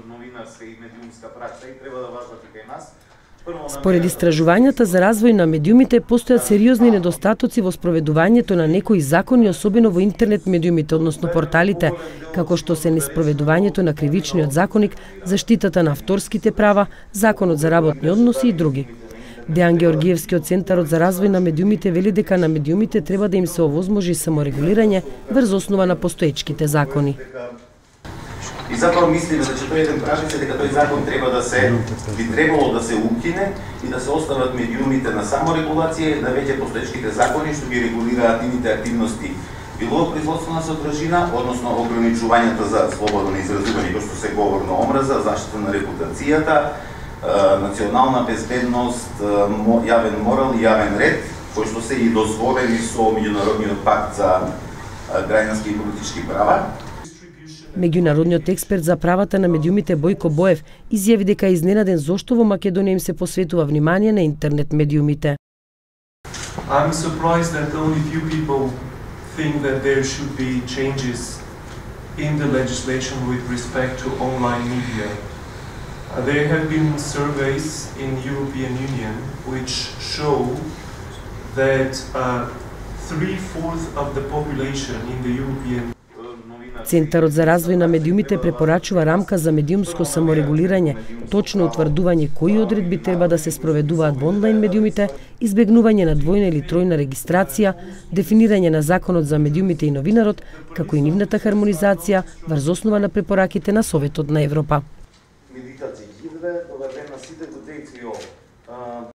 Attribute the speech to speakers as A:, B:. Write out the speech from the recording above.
A: новинарска и медиумска пракса и треба да важат и кај нас.
B: Според истражувањата за развој на медиумите, постојат сериозни недостатоци во спроведувањето на некои закони, особено во интернет медиумите, односно порталите, како што се неспроведувањето на кривичниот законник, заштитата на авторските права, законот за работни односи и други. Дејан Георгиевски од Центарот за развој на медиумите вели дека на медиумите треба да им се овозможи саморегулирање врз основа на постоечките закони.
A: И затоа мислиме че тој еден прашање дека тој закон треба да се би требало да се укине и да се остават медиумите на саморегулација, да веќе постоечките закони што ги регулираат нивните активности било производство на содржина, односно ограничувањата за слободно изразување, кој што се говор на омраза, заштита на репутацијата, национална безбедност, јавен морал и јавен ред, кои што се и дозволени со меѓународниот пакт за граѓански и политички права.
B: Меѓународниот експерт за правата на медиумите Бојко Боев изјави дека е изненаден зошто во Македонија им се посветува внимание на интернет медиумите.
C: I'm surprised that only few people think that there should be changes in the legislation with respect to online media. There have been surveys in the European Union which show that 3/4 of the population in the European
B: Центарот за развој на медиумите препорачува рамка за медиумско саморегулирање, точно утврдување кои одредби треба да се спроведуваат во онлайн медиумите, избегнување на двојна или тројна регистрација, дефинирање на законот за медиумите и новинарот, како и нивната хармонизација врз основа на препораките на Советот на Европа.